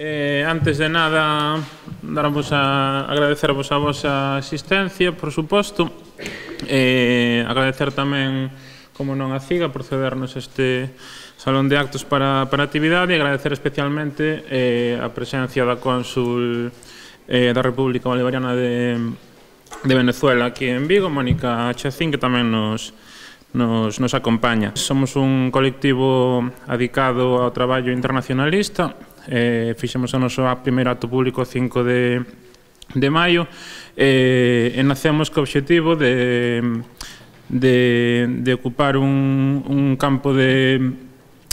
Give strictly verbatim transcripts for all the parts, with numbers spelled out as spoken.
Eh, antes de nada, darvos a agradecervos a vosa asistencia, por suposto. Eh, agradecer tamén, como non a CIGA, por cedernos este salón de actos para, para a actividade, e agradecer especialmente eh, a presencia da cónsul eh, da República Bolivariana de, de Venezuela aquí en Vigo, Mónica Chacín, que tamén nos, nos, nos acompaña. Somos un colectivo adicado ao traballo internacionalista. Eh, fixemos o noso primeiro acto público cinco de, de maio eh, e nacemos co obxectivo de, de, de ocupar un, un campo de,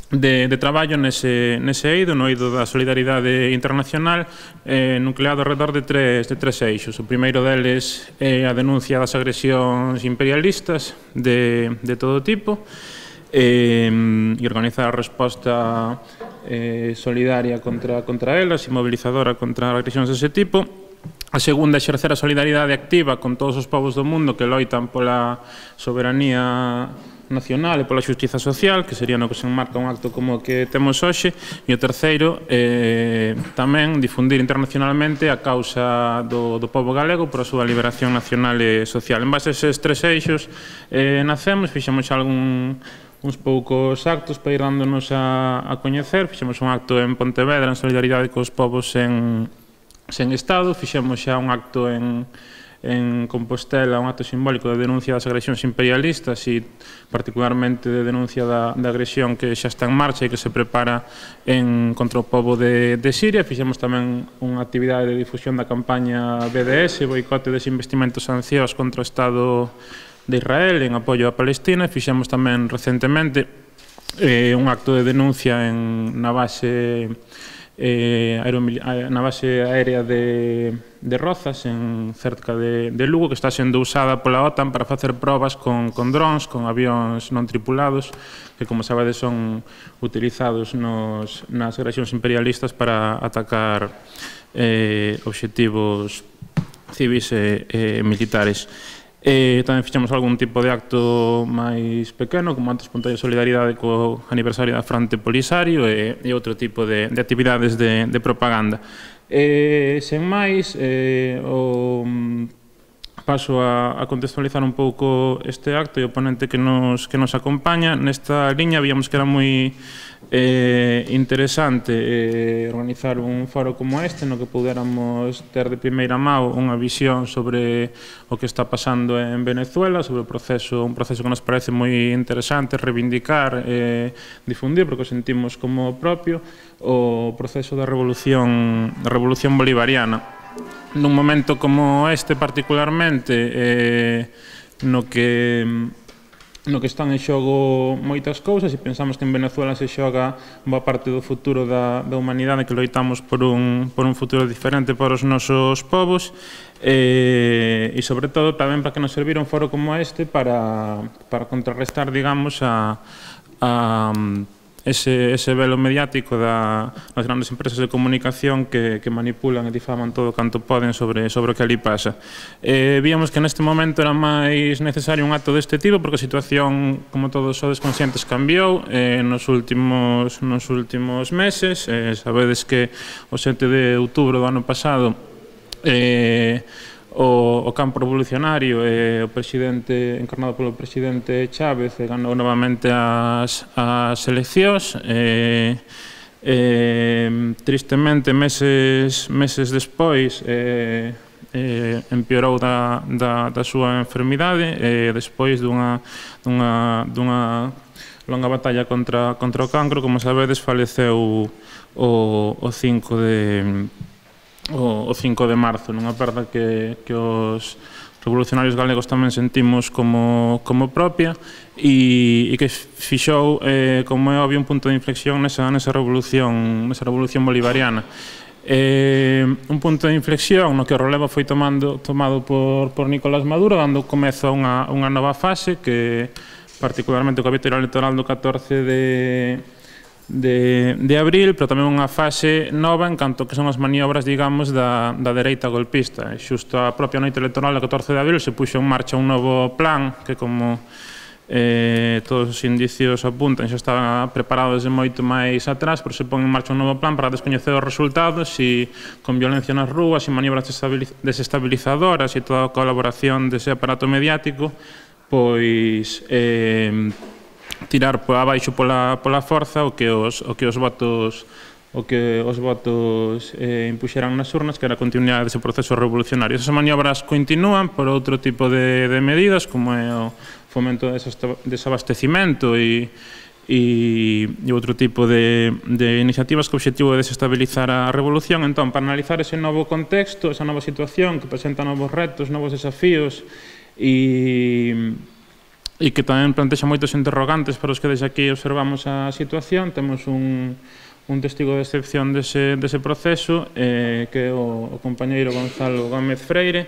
de, de traballo nese, nese eido, no eido da solidaridade internacional, eh, nucleado alrededor de tres, de tres eixos. O primeiro deles é a denuncia das agresións imperialistas de, de todo tipo, eh, e organizar a resposta eh, solidaria contra, contra elas e mobilizadora contra agresións dese tipo. A segunda, exercer a solidaridade activa con todos os povos do mundo que loitan pola soberanía nacional e pola xustiza social, que sería no que se enmarca un acto como o que temos hoxe. E o terceiro, eh, tamén difundir internacionalmente a causa do, do povo galego por a súa liberación nacional e social. En base a eses tres eixos eh, nacemos, fixemos algún uns poucos actos para ir dándonos a, a coñecer. Fixemos un acto en Pontevedra en solidaridade cos povos en, sen Estado, fixemos xa un acto en, en Compostela, un acto simbólico de denuncia das agresións imperialistas e particularmente de denuncia da, da agresión que xa está en marcha e que se prepara en, contra o povo de, de Siria. Fixemos tamén unha actividade de difusión da campaña B D S, boicote, desinvestimento e sancións contra o Estado de Israel en apoio a Palestina. Fixemos tamén recentemente eh, un acto de denuncia en, na base eh, na base aérea de, de Rozas, en cerca de, de Lugo, que está sendo usada pola OTAN para facer probas con, con drons, con avións non tripulados, que, como sabedes, son utilizados nos, nas agresións imperialistas para atacar eh, obxectivos civis e, e militares. Eh, tamén fixemos algún tipo de acto máis pequeno, como acto espontáneo de solidaridade co aniversario da Fronte Polisario e, e outro tipo de, de actividades de, de propaganda. Eh, sen máis, eh, o, paso a, a contextualizar un pouco este acto e o ponente que nos, que nos acompaña. Nesta liña víamos que era moi eh, interesante eh, organizar un foro como este, no que pudéramos ter de primeira mão unha visión sobre o que está pasando en Venezuela, sobre o proceso, un proceso que nos parece moi interesante reivindicar e eh, difundir, porque o sentimos como propio, o proceso da revolución, da revolución bolivariana. Nun momento como este particularmente, eh, no que no que están en xogo moitas cousas, e pensamos que en Venezuela se xoga boa parte do futuro da, da humanidade, que loitamos por un, por un futuro diferente para os nosos povos, eh, e sobre todo tamén para que nos servira un foro como este para, para contrarrestar, digamos, a, a Ese, ese velo mediático da, das grandes empresas de comunicación que, que manipulan e difaman todo canto poden sobre, sobre o que ali pasa. Eh, víamos que neste momento era máis necesario un acto deste tipo, porque a situación, como todos sodes conscientes, cambiou eh, nos, últimos, nos últimos meses. Eh, sabedes que o sete de outubro do ano pasado eh, O, o campo revolucionario e o presidente, encarnado polo presidente Chávez, ganou novamente as, as eleccións. E, e, tristemente, meses, meses despois, e, e, empeorou da, da, da súa enfermidade, e despois dunha, dunha, dunha longa batalla contra, contra o cancro, como sabedes, faleceu o, o cinco de... o cinco de marzo, nunha perda que, que os revolucionarios galegos tamén sentimos como, como propia, e, e que fixou, eh, como é obvio, un punto de inflexión nesa, nesa, revolución, nesa revolución bolivariana. Eh, un punto de inflexión no que o relevo foi tomando, tomado por, por Nicolás Maduro, dando comezo a unha, unha nova fase que, particularmente co capítulo electoral do catorce de De, de abril, pero tamén unha fase nova en canto que son as maniobras, digamos, da, da dereita golpista. E xusto a propia noite electoral do catorce de abril se puxo en marcha un novo plan que, como eh, todos os indicios apuntan, xa está preparado desde moito máis atrás, pero se pon en marcha un novo plan para descoñecer os resultados e con violencia nas rúas e maniobras desestabilizadoras e toda a colaboración dese aparato mediático, pois eh, tirar por abaixo pola, pola forza o que os, o que os votos o que os votos eh, impuxeran nas urnas, que era a continuidade dese proceso revolucionario. Esas maniobras continúan por outro tipo de, de medidas, como é o fomento de desabastecimento e, e, e outro tipo de, de iniciativas que o obxectivo é desestabilizar a revolución. Entón, para analizar ese novo contexto, esa nova situación que presenta novos retos, novos desafíos e, e que tamén plantexa moitos interrogantes para os que desde aquí observamos a situación, temos un un testigo de excepción dese, dese proceso, eh, que é o, o compañeiro Gonzalo Gómez Freire,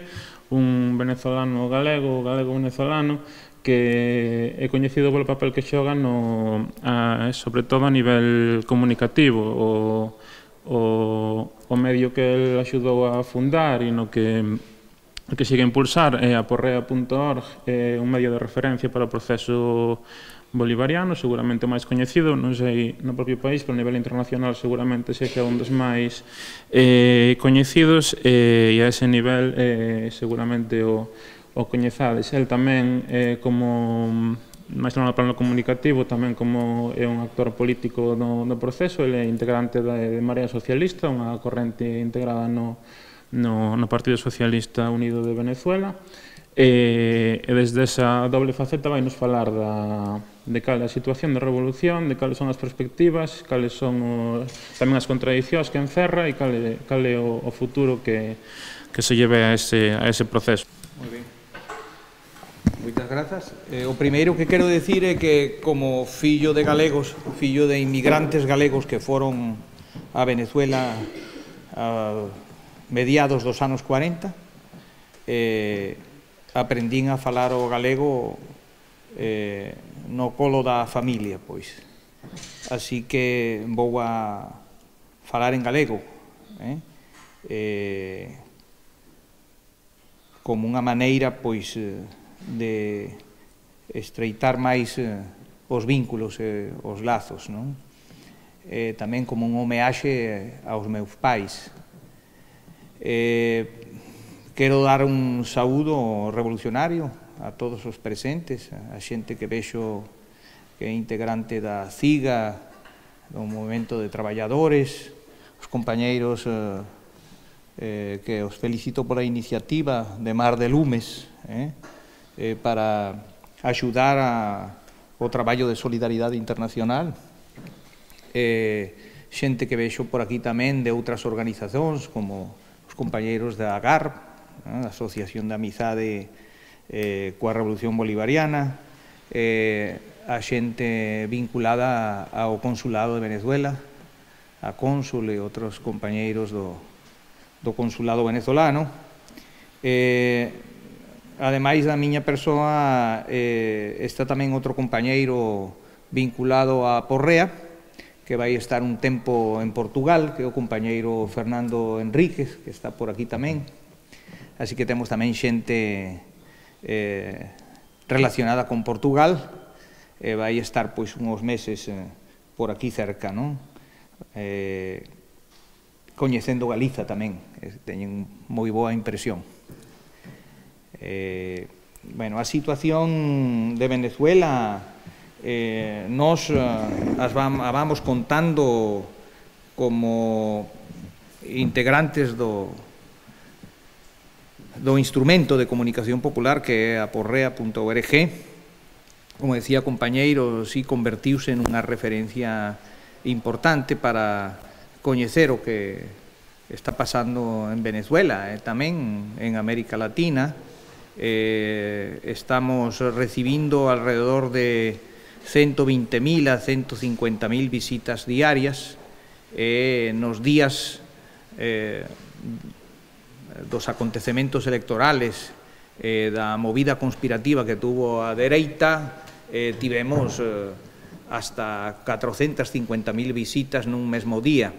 un venezolano galego, galego-venezolano, que é coñecido polo papel que xoga, no, a, sobre todo a nivel comunicativo, o, o, o medio que el axudou a fundar e no que, que sigue a impulsar é a porrea punto org, é un medio de referencia para o proceso bolivariano, seguramente o máis coñecido, non sei no propio país, pero a nivel internacional seguramente sexa un dos máis eh, coñecidos, eh, e a ese nivel eh, seguramente o, o coñezades. El tamén, eh, como máis no plano comunicativo, tamén como é un actor político do, do proceso, ele é integrante de, de Marea Socialista, unha corrente integrada no, no, no Partido Socialista Unido de Venezuela, e, e desde esa doble faceta vai nos falar da, de cal é a situación de revolución, de cales son as perspectivas, cales son os, tamén as contradicións que encerra e cal é, cal é o, o futuro que, que se lleve a ese, a ese proceso. Moi ben. Moitas grazas. Eh, o primeiro que quero decir é que como fillo de galegos, fillo de inmigrantes galegos que foron a Venezuela a mediados dos anos cuarenta, eh, aprendín a falar o galego eh, no colo da familia, pois. Así que vou a falar en galego, eh? Eh, como unha maneira, pois, de estreitar máis eh, os vínculos e eh, os lazos, non? Eh, tamén como un homeaxe aos meus pais. Eh, Quero dar un saúdo revolucionario a todos os presentes, a xente que vexo que é integrante da CIGA, do Movimento de Traballadores, os compañeiros eh, eh, que os felicito pola iniciativa de Mar de Lumes, eh, eh, para axudar a, o traballo de solidaridade internacional. Eh, xente que vexo por aquí tamén de outras organizacións, como os compañeiros da AGARP, a Asociación de Amizade eh, coa Revolución Bolivariana, eh, a xente vinculada ao Consulado de Venezuela, a Cónsul e outros compañeiros do, do Consulado venezolano. Eh, ademais da miña persoa, eh, está tamén outro compañeiro vinculado a Porrea, que vai estar un tempo en Portugal, que é o compañeiro Fernando Enríquez, que está por aquí tamén. Así que temos tamén xente eh, relacionada con Portugal, e vai estar pois uns meses eh, por aquí cerca, non? Eh, coñecendo Galiza tamén, eh, teñen moi boa impresión. Eh, bueno, a situación de Venezuela, eh, nos eh, as vam, a vamos contando como integrantes do do instrumento de comunicación popular que é a porrea punto org. Como decía compañeiro, si convertiuse en unha referencia importante para coñecer o que está pasando en Venezuela e tamén en América Latina. Eh, estamos recibindo alrededor de ciento veinte mil a ciento cincuenta mil visitas diarias e nos días eh, dos acontecementos electorales, eh, da movida conspirativa que tuvo a dereita, eh, tivemos eh, hasta cuatrocentas cincuenta mil visitas nun mesmo día.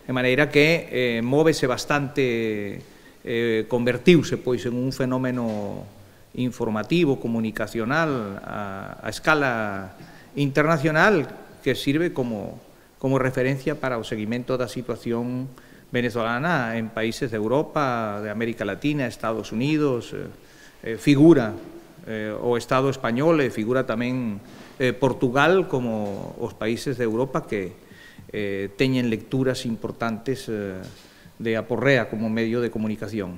De maneira que eh, móvese bastante, eh, convertiuse pois en un fenómeno informativo, comunicacional a, a escala internacional que sirve como, como referencia para o seguimento da situación venezolana en países de Europa, de América Latina, Estados Unidos, eh, eh, figura eh, o Estado español, e figura tamén eh, Portugal como os países de Europa que eh, teñen lecturas importantes eh, de Aporrea como medio de comunicación.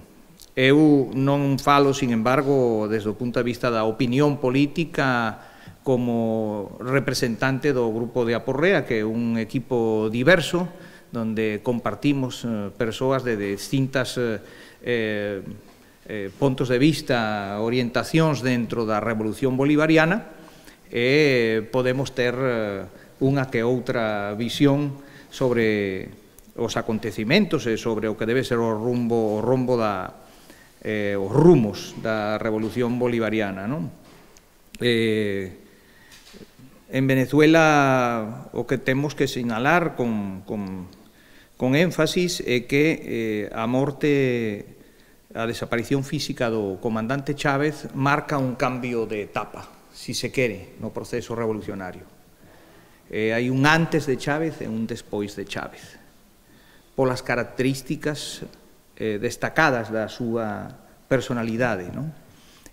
Eu non falo, sin embargo, desde o punto de vista da opinión política como representante do grupo de Aporrea, que é un equipo diverso, donde compartimos eh, persoas de distintas eh, eh, puntos de vista, orientacións dentro da Revolución Bolivariana, e podemos ter eh, unha que outra visión sobre os acontecimentos e sobre o que debe ser o rumbo, o rumbo da, eh, os rumos da Revolución Bolivariana, non? Eh, en Venezuela o que temos que sinalar con, con, con énfasis é que eh, a morte, a desaparición física do comandante Chávez marca un cambio de etapa, si se quere, no proceso revolucionario. Eh, hai un antes de Chávez e un despois de Chávez, polas características eh, destacadas da súa personalidade, non?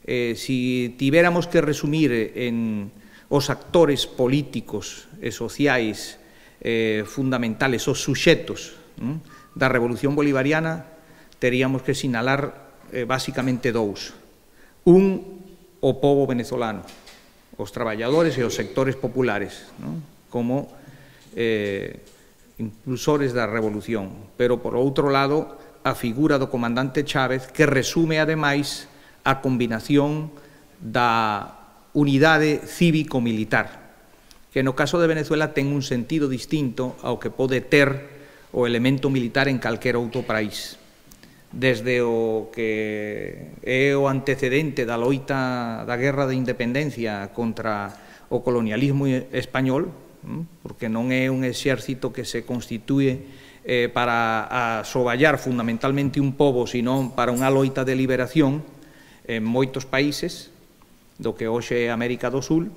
Eh, si tivéramos que resumir en os actores políticos e sociais eh, fundamentales, os suxetos non? da Revolución Bolivariana, teríamos que sinalar eh, basicamente dous. Un, o povo venezolano, os traballadores e os sectores populares, non? como eh, impulsores da revolución, pero, por outro lado, a figura do comandante Chávez, que resume, ademais, a combinación da unidade cívico-militar, que no caso de Venezuela ten un sentido distinto ao que pode ter o elemento militar en calquera outro país. Desde o que é o antecedente da loita da guerra de independencia contra o colonialismo español, porque non é un exército que se constitúe eh, para asoballar fundamentalmente un pobo, sino para unha loita de liberación en moitos países do que hoxe é América do Sul,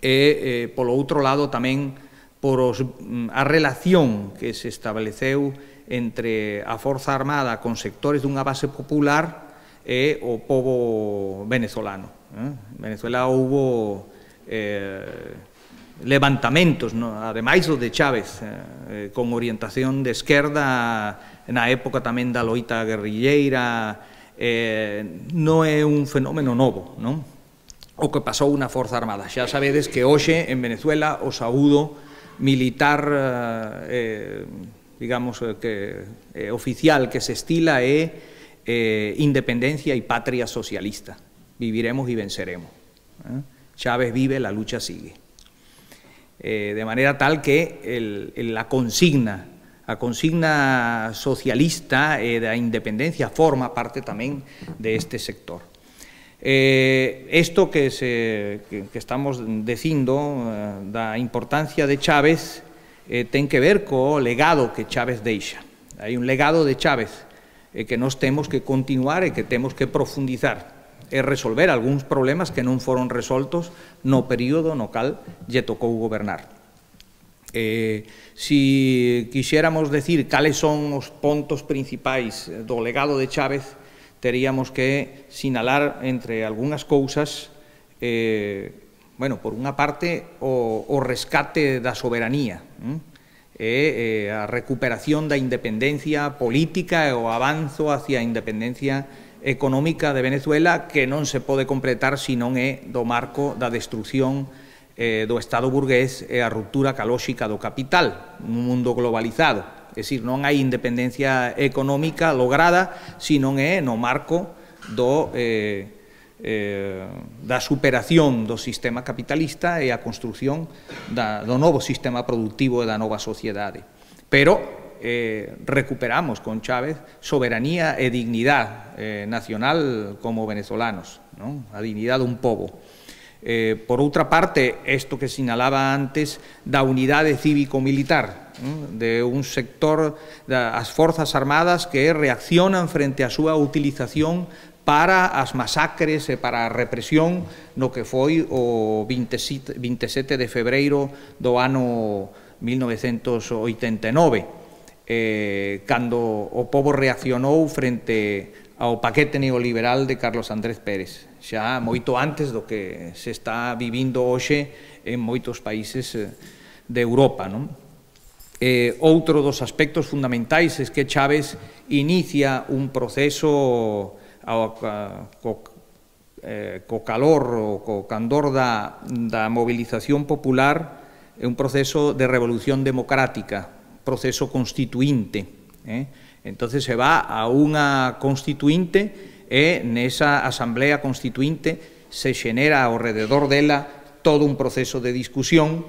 e, eh, polo outro lado, tamén por os, a relación que se estableceu entre a Forza Armada con sectores dunha base popular e o pobo venezolano. En Venezuela houbo eh, levantamentos, no? ademais do de Chávez, eh, con orientación de esquerda na época tamén da loita guerrilleira, eh, non é un fenómeno novo, non? O que pasou na Forza Armada. Xa sabedes que hoxe en Venezuela o saúdo militar, eh, digamos, que eh, oficial que se estila é eh, independencia e patria socialista. Viviremos y venceremos. ¿eh? Chávez vive, la lucha sigue. Eh, de manera tal que el, el, la consigna, a consigna socialista e da independencia forma parte tamén de este sector. Eh, esto que, se, que, que estamos dicindo eh, da importancia de Chávez eh, ten que ver co legado que Chávez deixa. Hai un legado de Chávez eh, que nós temos que continuar e que temos que profundizar e resolver algúns problemas que non foron resoltos no período no cal lle tocou gobernar. Eh, si quixéramos decir cales son os pontos principais do legado de Chávez, teríamos que sinalar entre algunhas cousas, eh, bueno, por unha parte, o, o rescate da soberanía, hm? e eh, a recuperación da independencia política e o avanzo hacia a independencia económica de Venezuela, que non se pode completar se non é do marco da destrucción eh, do Estado burgués e a ruptura calóxica do capital nun mundo globalizado. É dicir, non hai independencia económica lograda se non é no marco do, eh, eh, da superación do sistema capitalista e a construción da, do novo sistema productivo e da nova sociedade. Pero Eh, recuperamos con Chávez soberanía e dignidad eh, nacional como venezolanos, ¿no? A dignidad dun pobo. Eh, por outra parte, isto que sinalaba antes da unidade cívico-militar, ¿no? De un sector das Forzas Armadas que reaccionan frente á súa utilización para as masacres e para a represión no que foi o vinte e sete de febreiro do ano mil novecentos oitenta e nove, eh, cando o pobo reaccionou frente ao paquete neoliberal de Carlos Andrés Pérez, xa moito antes do que se está vivindo hoxe en moitos países de Europa, non? Eh, outro dos aspectos fundamentais é que Chávez inicia un proceso ao, co, eh, co calor ou co candor da, da movilización popular, é un proceso de revolución democrática, proceso constituinte. Eh? Entonces se va a unha constituinte e nesa asamblea constituinte se xenera ao rededor dela todo un proceso de discusión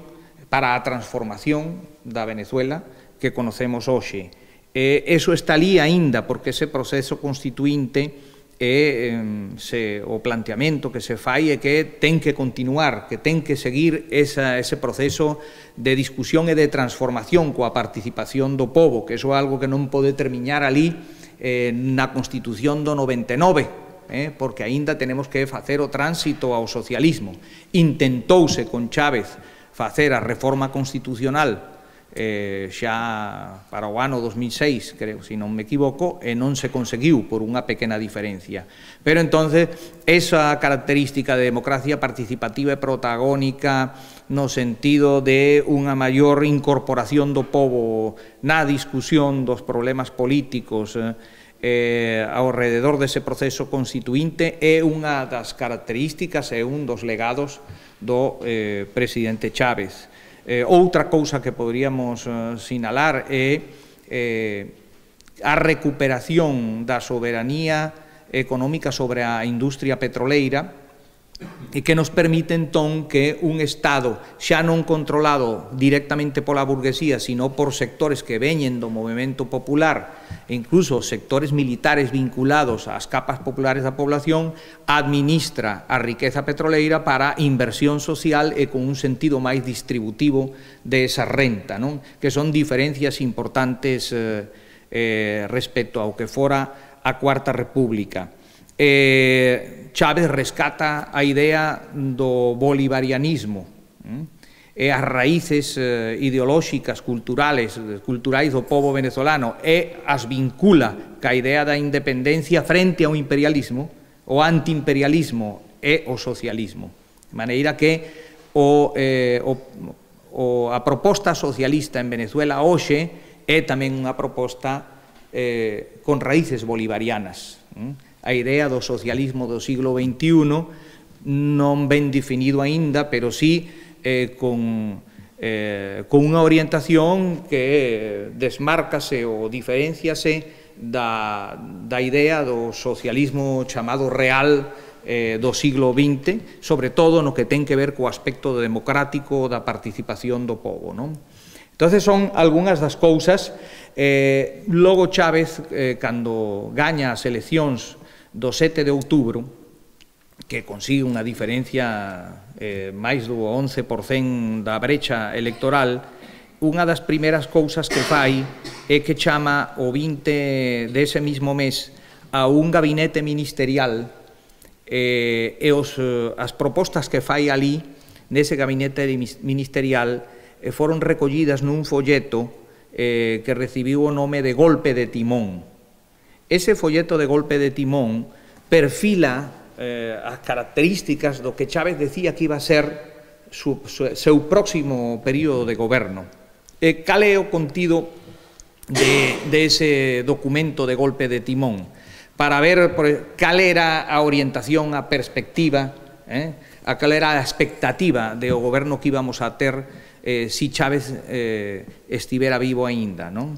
para a transformación da Venezuela que conocemos hoxe. E eso está ali aínda porque ese proceso constituinte e eh, se, o planteamento que se fai é que ten que continuar, que ten que seguir esa, ese proceso de discusión e de transformación coa participación do pobo, que iso é algo que non pode terminar ali eh, na Constitución do noventa e nove, eh, porque aínda tenemos que facer o tránsito ao socialismo. Intentouse con Chávez facer a reforma constitucional Eh, xa para o ano dos mil seis, creo, se non me equivoco, e non se conseguiu por unha pequena diferencia. Pero entonces, esa característica de democracia participativa e protagónica no sentido de unha maior incorporación do pobo na discusión dos problemas políticos eh, eh, ao rededor dese proceso constituinte é unha das características e un dos legados do eh, presidente Chávez. Eh, outra cousa que poderíamos eh, sinalar é eh, a recuperación da soberanía económica sobre a industria petroleira e que nos permite entón que un Estado xa non controlado directamente pola burguesía, sino por sectores que veñen do movemento popular e incluso sectores militares vinculados ás capas populares da población, administra a riqueza petroleira para inversión social e con un sentido máis distributivo de esa renta, non? Que son diferencias importantes eh, eh, respecto ao que fora a Cuarta República. Eh, Chávez rescata a idea do bolivarianismo eh, e as raíces eh, ideolóxicas, culturales, culturais do pobo venezolano e as vincula ca idea da independencia frente ao imperialismo, o antiimperialismo e o socialismo. De maneira que o, eh, o, o, a proposta socialista en Venezuela hoxe é tamén unha proposta eh, con raíces bolivarianas. Eh? A idea do socialismo do siglo veintiuno non ben definido aínda, pero sí eh, con, eh, con unha orientación que desmárcase ou diferenciase da, da idea do socialismo chamado real eh, do siglo vinte, sobre todo no que ten que ver co aspecto democrático da participación do pobo, non? Entonces son algunhas das cousas. Eh, logo Chávez, eh, cando gaña as eleccións do sete de outubro, que consigue unha diferencia eh, máis do once por cento da brecha electoral, unha das primeiras cousas que fai é que chama o vinte dese mismo mes a un gabinete ministerial eh, e os, as propostas que fai ali nese gabinete ministerial eh, foron recollidas nun folleto eh, que recibiu o nome de Golpe de Timón. Ese folleto de Golpe de Timón perfila eh, as características do que Chávez decía que iba a ser su, su, seu próximo período de goberno. E cal é o contido de, de ese documento de Golpe de Timón? Para ver por, cal era a orientación, a perspectiva, eh, a cal era a expectativa do goberno que íbamos a ter eh, si Chávez eh, estivera vivo aínda, non?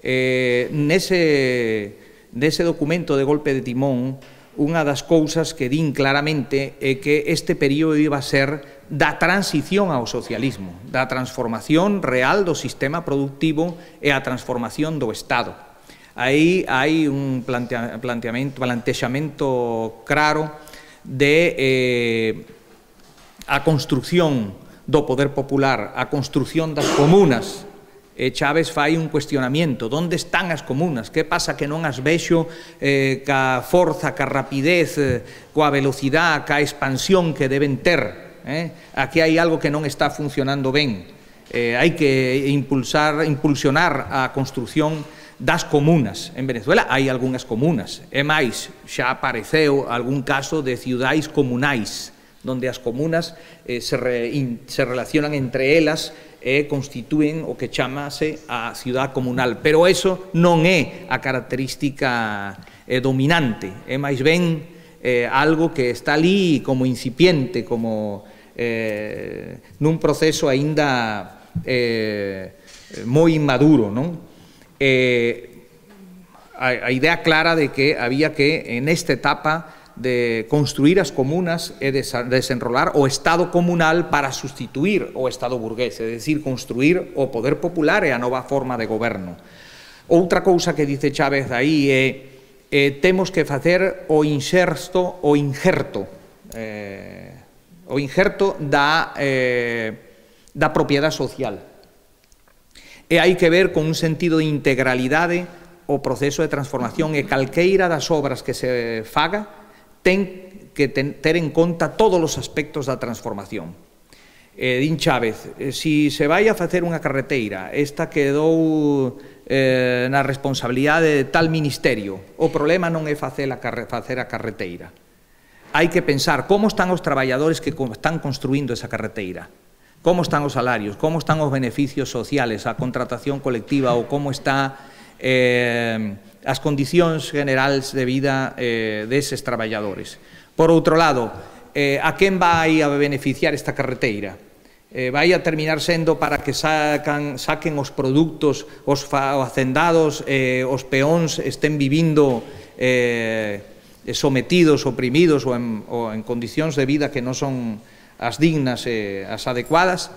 Eh, nese... Dese documento de Golpe de Timón, unha das cousas que din claramente é que este período iba a ser da transición ao socialismo, da transformación real do sistema productivo e a transformación do Estado. Aí hai un plantea, planteamento, plantexamento claro de eh, a construción do poder popular, a construción das comunas, E Chávez fai un cuestionamiento: onde están as comunas? Que pasa que non as vexo eh, ca forza, ca rapidez, eh, coa velocidade, ca expansión que deben ter? Eh? Aquí hai algo que non está funcionando ben. Eh, hai que impulsar, impulsionar a construción das comunas. En Venezuela hai algunhas comunas, e máis, xa apareceu algún caso de ciudades comunais, donde as comunas eh, se, re, in, se relacionan entre elas e constitúen o que chamase a ciudad comunal, pero eso non é a característica eh, dominante, é máis ben eh, algo que está ali como incipiente, como eh, nun proceso aínda eh, moi inmaduro, non? Eh, a, a idea clara de que había que, en esta etapa, de construir as comunas e desenrolar o Estado comunal para sustituir o Estado burgués, é dicir, construir o poder popular e a nova forma de goberno. Outra cousa que dice Chávez aí é eh, temos que facer o inserto, o injerto, eh, o injerto da, eh, da propiedade social. E hai que ver con un sentido de integralidade o proceso de transformación, e calqueira das obras que se faga ten que ter en conta todos os aspectos da transformación. Eh, din Chávez, eh, si se vai a facer unha carreteira, esta quedou eh, na responsabilidade de tal ministerio, o problema non é facer a, facer a carreteira. Hai que pensar como están os traballadores que están construindo esa carreteira, como están os salarios, como están os beneficios sociales, a contratación colectiva, ou como está eh, as condicións generais de vida eh, deses traballadores. Por outro lado, eh, a quen vai a beneficiar esta carreteira? Eh, vai a terminar sendo para que sacan, saquen os produtos, os hacendados, eh, os peóns estén vivindo eh, sometidos, oprimidos ou en, ou en condicións de vida que non son as dignas e as adecuadas?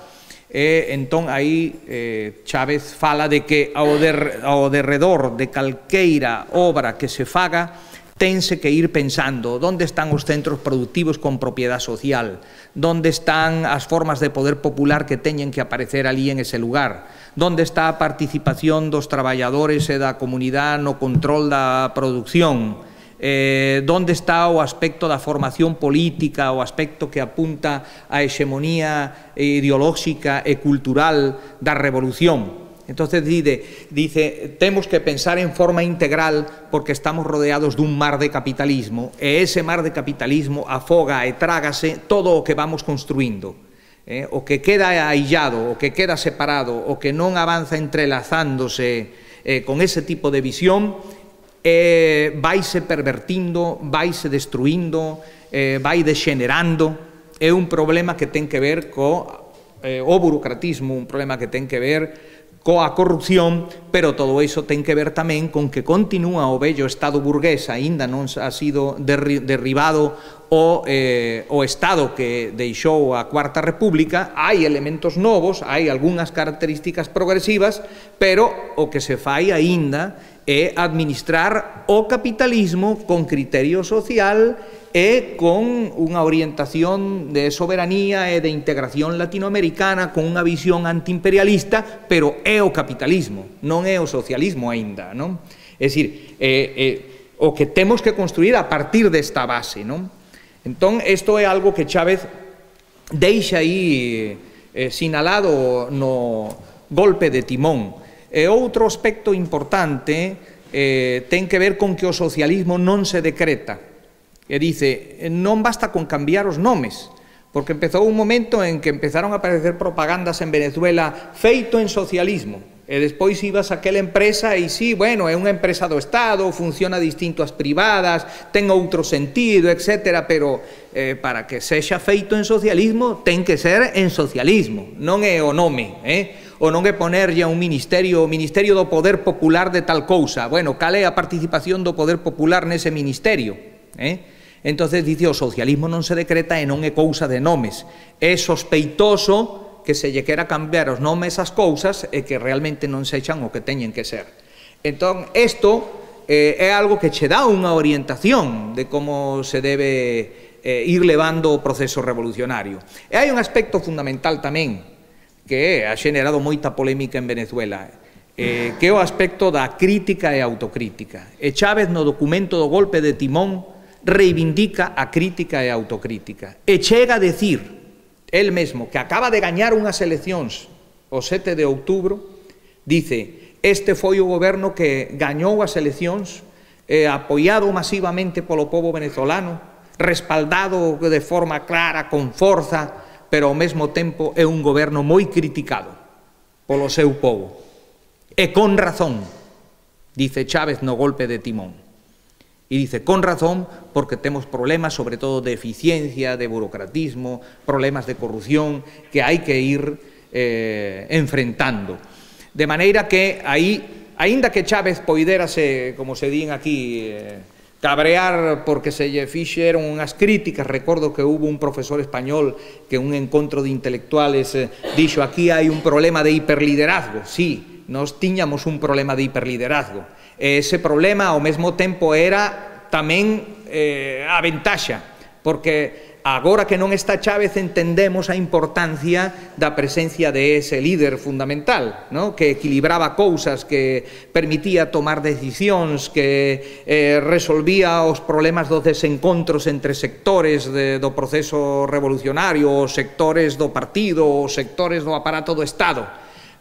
E entón aí eh, Chávez fala de que ao, der, ao derredor de calqueira obra que se faga tense que ir pensando onde están os centros productivos con propiedade social, onde están as formas de poder popular que teñen que aparecer ali en ese lugar, onde está a participación dos traballadores e da comunidade no control da produción, Eh, onde está o aspecto da formación política, o aspecto que apunta á hexemonía ideolóxica e cultural da revolución. Entonces dice, dice, temos que pensar en forma integral porque estamos rodeados dun mar de capitalismo e ese mar de capitalismo afoga e trágase todo o que vamos construindo. Eh, o que queda aillado, o que queda separado, o que non avanza entrelazándose eh, con ese tipo de visión, Eh, vaise pervertindo, vaise destruindo, eh, vai dexenerando. É un problema que ten que ver co eh, o burocratismo, un problema que ten que ver coa corrupción, pero todo iso ten que ver tamén con que continúa o vello Estado burgués, aínda non ha sido derri derribado o, eh, o Estado que deixou a Cuarta República. Hai elementos novos, hai algunhas características progresivas, pero o que se fai aínda é administrar o capitalismo con criterio social e con unha orientación de soberanía e de integración latinoamericana, con unha visión antiimperialista, pero é o capitalismo, non é o socialismo aínda, non? É dicir, eh, eh, o que temos que construir a partir desta base, non? Entón, isto é algo que Chávez deixa aí eh, sinalado no golpe de timón. E outro aspecto importante eh, ten que ver con que o socialismo non se decreta. E dice, non basta con cambiar os nomes, porque empezou un momento en que empezaron a aparecer propagandas en Venezuela feito en socialismo, e despois ibas a aquela empresa e sí, bueno, é unha empresa do Estado, funciona distinto ás privadas, ten outro sentido, etcétera, pero eh, para que sexa feito en socialismo ten que ser en socialismo, non é o nome, eh? ou non é ponerlle a un ministerio, o Ministerio do Poder Popular de tal cousa. Bueno, cal é a participación do Poder Popular nese ministerio? Eh? Entonces, dice, o socialismo non se decreta e non é cousa de nomes. É sospeitoso que se lle quera cambiar os nomes ás cousas e que realmente non sexan o que teñen que ser. Entón, isto eh, é algo que che dá unha orientación de como se debe eh, ir levando o proceso revolucionario. E hai un aspecto fundamental tamén. que ha xenerado moita polémica en Venezuela, eh, que é o aspecto da crítica e autocrítica. E Chávez, no documento do golpe de timón, reivindica a crítica e a autocrítica. E chega a decir, el mesmo, que acaba de gañar unhas eleccións o sete de outubro, dice, este foi o goberno que gañou as eleccións, eh, apoiado masivamente polo povo venezolano, respaldado de forma clara, con forza, pero ao mesmo tempo é un goberno moi criticado polo seu povo. E con razón, dice Chávez no golpe de timón. E dice, con razón, porque temos problemas, sobre todo de eficiencia, de burocratismo, problemas de corrupción, que hai que ir eh, enfrentando. De maneira que aí, aínda que Chávez poiderase, como se din aquí, eh, cabrear porque se lle fixeron unhas críticas, recordo que hubo un profesor español que un encontro de intelectuales eh, dixo, aquí hai un problema de hiperliderazgo. Sí, nos tiñamos un problema de hiperliderazgo. E ese problema ao mesmo tempo era tamén eh, a ventaxa, porque agora que non está Chávez entendemos a importancia da presencia de ese líder fundamental, ¿no? Que equilibraba cousas, que permitía tomar decisións, que eh, resolvía os problemas dos desencontros entre sectores de, do proceso revolucionario, os sectores do partido, os sectores do aparato do Estado.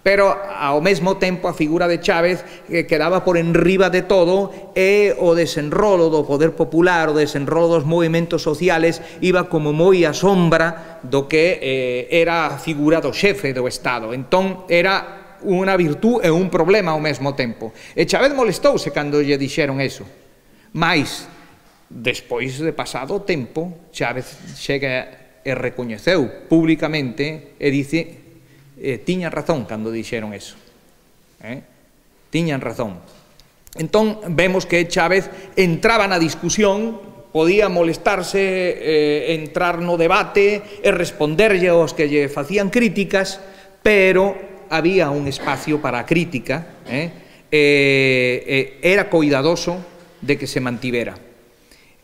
Pero, ao mesmo tempo, a figura de Chávez que quedaba por enriba de todo e o desenrolo do poder popular, o desenrolo dos movimentos sociales iba como moi a sombra do que eh, era a figura do xefe do Estado. Entón, era unha virtud e un problema ao mesmo tempo. E Chávez molestouse cando lle dixeron eso. Mais, despois de pasado o tempo, Chávez chega e recoñeceu públicamente e dice... Eh, tiñan razón cando dixeron eso, eh? tiñan razón. Entón vemos que Chávez entraba na discusión, podía molestarse, eh, entrar no debate e responderlle aos que lle facían críticas, pero había un espacio para a crítica, eh? Eh, eh, era cuidadoso de que se mantivera.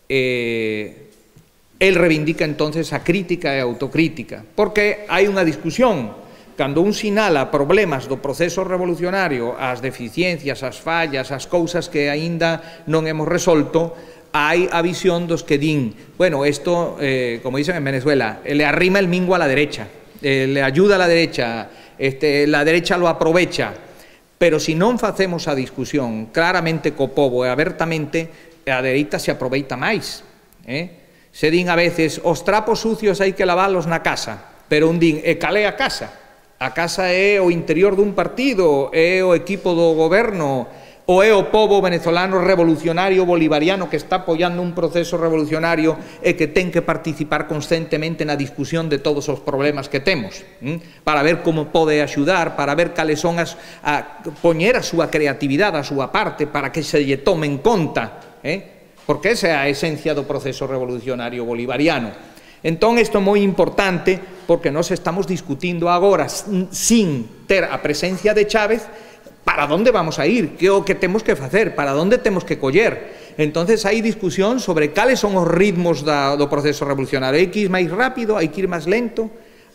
Eh, el reivindica entonces a crítica e a autocrítica, porque hai unha discusión. Cando un sinala problemas do proceso revolucionario, as deficiencias, as fallas, as cousas que aínda non hemos resolto, hai a visión dos que din, bueno, isto, eh, como dicen en Venezuela, le arrima el mingo a la derecha, eh, le ayuda a la derecha, este, la derecha lo aprovecha, pero si non facemos a discusión claramente co povo e abertamente, a dereita se aproveita máis. Eh? Se din a veces, os trapos sucios hai que lavalos na casa, pero un din, e calé a casa? A casa é o interior dun partido, é o equipo do goberno, ou é o povo venezolano revolucionario bolivariano que está apoiando un proceso revolucionario e que ten que participar constantemente na discusión de todos os problemas que temos, ¿m? Para ver como pode axudar, para ver cales son as... a poñer a súa creatividade, a súa parte, para que se lle tome en conta, ¿eh? Porque esa é a esencia do proceso revolucionario bolivariano. Entón, isto é moi importante porque nós estamos discutindo agora sin ter a presencia de Chávez para onde vamos a ir, que é o que temos que facer, para onde temos que coller. Entonces hai discusión sobre cales son os ritmos da, do proceso revolucionario. Hai que ir máis rápido, hai que ir máis lento,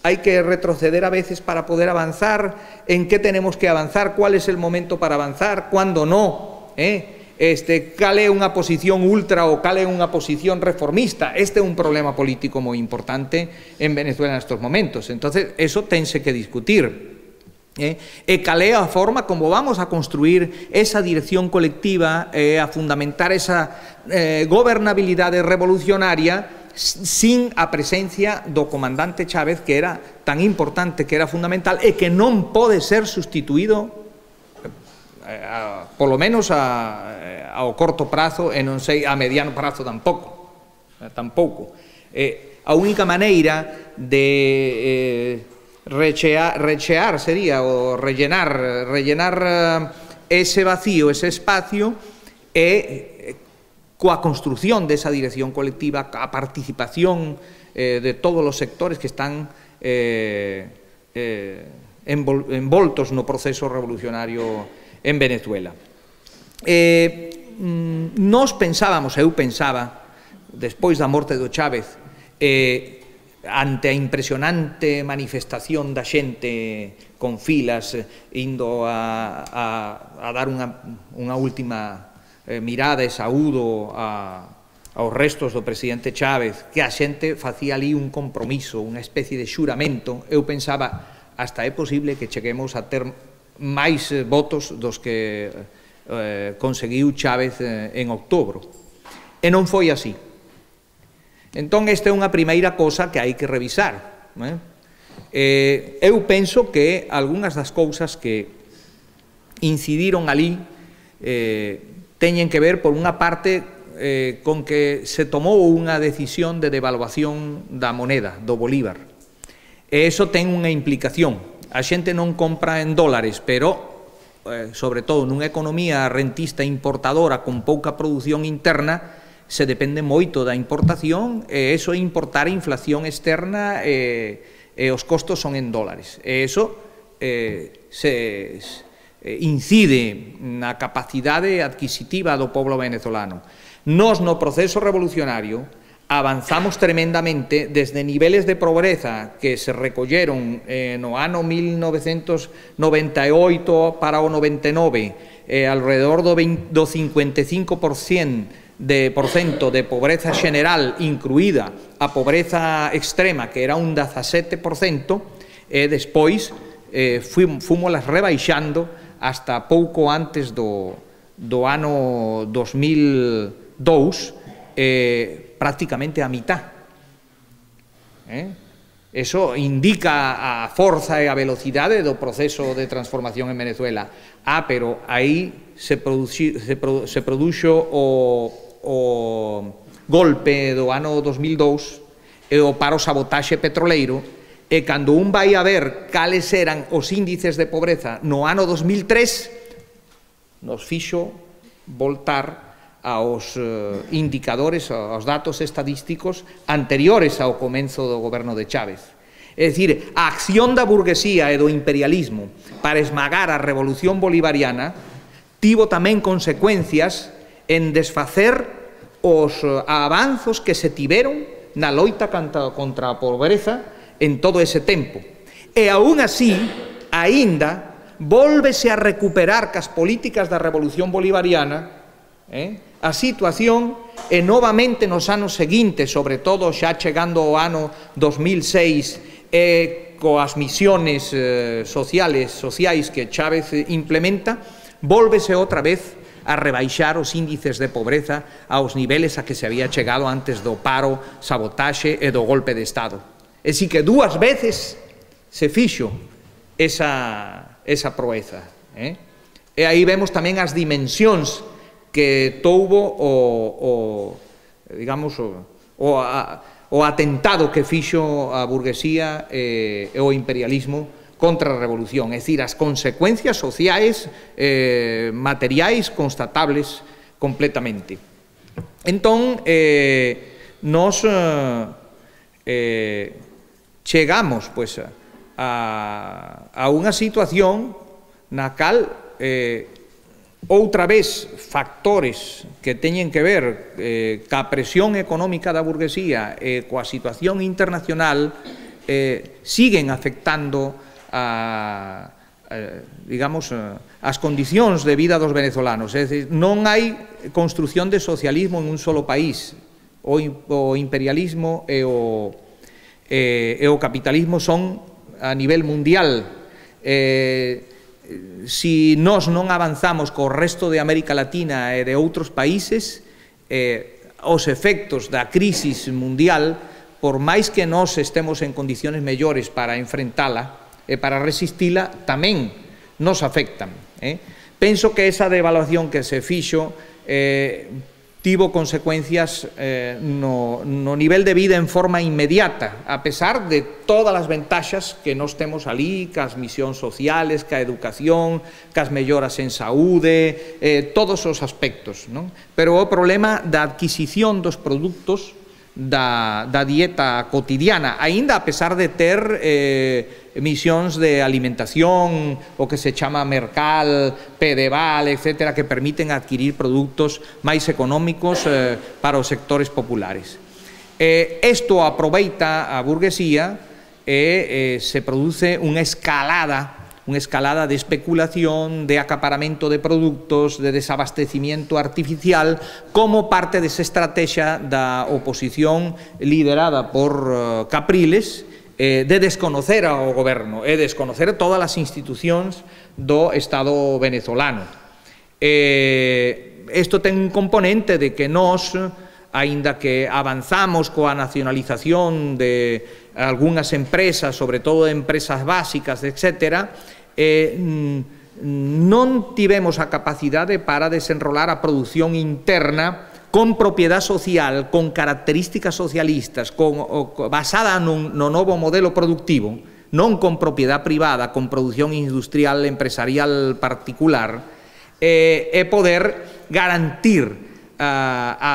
hai que retroceder a veces para poder avanzar, en que tenemos que avanzar, cuál es el momento para avanzar, cuándo no, eh? Este, cal é unha posición ultra ou cal é unha posición reformista. Este é un problema político moi importante en Venezuela nestes momentos. Entonces, eso tense que discutir. Eh? E cal é a forma como vamos a construir esa dirección colectiva, eh, a fundamentar esa eh, gobernabilidade revolucionaria sin a presencia do comandante Chávez, que era tan importante, que era fundamental e que non pode ser sustituído A, polo menos a, ao corto prazo e non sei a mediano prazo tampouco, tampouco. Eh, a única maneira de eh, rechear, rechear sería o rellenar, rellenar ese vacío, ese espacio é coa construción desa dirección colectiva, a participación eh, de todos os sectores que están eh, eh, envoltos no proceso revolucionario en Venezuela. Eh, nos pensábamos, eu pensaba, despois da morte do Chávez, eh, ante a impresionante manifestación da xente con filas indo a, a, a dar unha, unha última eh, mirada e saúdo a, aos restos do presidente Chávez, que a xente facía ali un compromiso, unha especie de xuramento. Eu pensaba, hasta é posible que cheguemos a ter máis votos dos que eh, conseguiu Chávez eh, en outubro. E non foi así. Entón, esta é unha primeira cosa que hai que revisar. Eh? Eh, eu penso que algunhas das cousas que incidiron ali eh, teñen que ver, por unha parte, eh, con que se tomou unha decisión de devaluación da moneda, do bolívar. E iso ten unha implicación. A xente non compra en dólares, pero, eh, sobre todo, nunha economía rentista importadora con pouca produción interna, se depende moito da importación, e iso é importar a inflación externa e, e os costos son en dólares. E iso eh, se eh, incide na capacidade adquisitiva do pobo venezolano. Nos, no proceso revolucionario, avanzamos tremendamente desde niveles de pobreza que se recolleron eh, no ano mil novecentos noventa e oito para o noventa e nove, eh, alrededor do, veinte, do cincuenta e cinco por cento de porcento de pobreza general, incluída a pobreza extrema, que era un dezasete por cento, e despois eh, fomos rebaixando hasta pouco antes do, do ano dos mil dous, eh, prácticamente a mitad. Eh? Eso indica a forza e a velocidade do proceso de transformación en Venezuela. Ah, pero aí se, produxi, se, produ, se produxo o o golpe do ano dos mil dous e o paro sabotaxe petroleiro, e cando un vai a ver cales eran os índices de pobreza no ano dos mil tres, nos fixo voltar aos eh, indicadores, aos datos estadísticos anteriores ao comenzo do goberno de Chávez. É dicir, a acción da burguesía e do imperialismo para esmagar a revolución bolivariana tivo tamén consecuencias en desfacer os avanzos que se tiveron na loita contra a pobreza en todo ese tempo. E aún así, aínda, vólvese a recuperar cas políticas da revolución bolivariana eh, a situación, e novamente nos anos seguintes, sobre todo xa chegando ao ano dos mil seis, e coas misiones eh, sociales, sociais que Chávez implementa, vólvese outra vez a rebaixar os índices de pobreza aos niveles a que se había chegado antes do paro, sabotaxe e do golpe de Estado. E si que dúas veces se fixo esa, esa proeza. Eh? E aí vemos tamén as dimensións que touvo o, o digamos, o, o, a, o atentado que fixo a burguesía e, e o imperialismo contra a revolución, é dicir, as consecuencias sociais, eh, materiais, constatables completamente. Entón, eh, nos eh, chegamos pues, a, a unha situación na cal eh, outra vez factores que teñen que ver eh, ca presión económica da burguesía e coa situación internacional eh, siguen afectando a, a digamos, as condicións de vida dos venezolanos. É dicir, non hai construción de socialismo en un solo país. O, o imperialismo e o, e, e o capitalismo son a nivel mundial. Eh, si nós non avanzamos co resto de América Latina e de outros países, eh, os efectos da crisis mundial, por máis que nós estemos en condiciones mellores para enfrentala e para resistila, tamén nos afectan. Eh? Penso que esa devaluación que se fixo eh, tivo consecuencias eh, no, no nivel de vida en forma inmediata, a pesar de todas as ventaxas que nós temos ali, cas misións sociales, ca educación, cas melloras en saúde, eh, todos os aspectos, non? Pero o problema da adquisición dos produtos da, da dieta cotidiana, aínda a pesar de ter eh, misións de alimentación, o que se chama Mercal, Pedeval, etcétera, que permiten adquirir produtos máis económicos eh, para os sectores populares. Eh, esto aproveita a burguesía e eh, se produce unha escalada, unha escalada de especulación, de acaparamento de produtos, de desabastecimiento artificial, como parte desa estrategia da oposición liderada por uh, Capriles, eh, de desconocer ao goberno e desconocer todas as institucións do Estado venezolano. Eh, isto ten un componente de que nós, aínda que avanzamos coa nacionalización de algunhas empresas, sobre todo empresas básicas, etcétera, eh, non tivemos a capacidade para desenrolar a produción interna con propiedade social, con características socialistas, con, o, basada no, no novo modelo productivo, non con propiedade privada, con produción industrial, empresarial particular, eh, e poder garantir a, a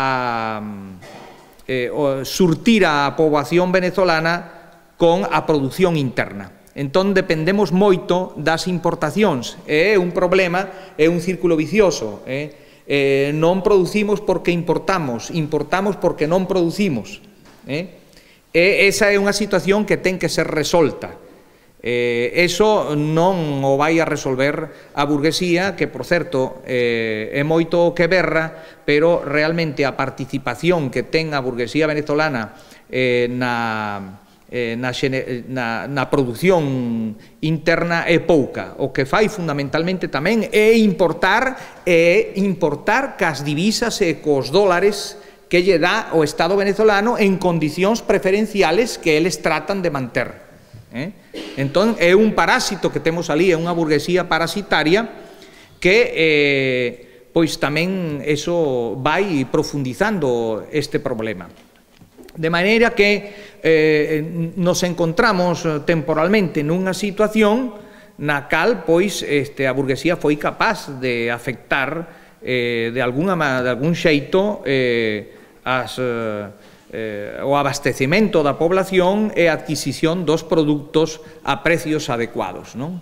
Eh, surtir a poboación venezolana con a produción interna. Entón, dependemos moito das importacións. É un problema, é un círculo vicioso. Eh? Eh, non producimos porque importamos, importamos porque non producimos. Eh? E esa é unha situación que ten que ser resolta. Eh, eso non o vai a resolver a burguesía, que, por certo, eh, é moito que berra, pero realmente a participación que ten a burguesía venezolana eh, na, eh, na, na, na produción interna é pouca. O que fai fundamentalmente tamén é importar, é importar cas divisas e cos dólares que lle dá o Estado venezolano en condicións preferenciales que eles tratan de manter. Eh? Entón, é un parásito que temos ali, é unha burguesía parasitaria que, eh, pois tamén eso vai profundizando este problema. De maneira que eh, nos encontramos temporalmente nunha situación na cal, pois, este, a burguesía foi capaz de afectar eh, de, alguna, de algún xeito eh, as... Eh, Eh, o abastecemento da población e a adquisición dos produtos a precios adecuados, non?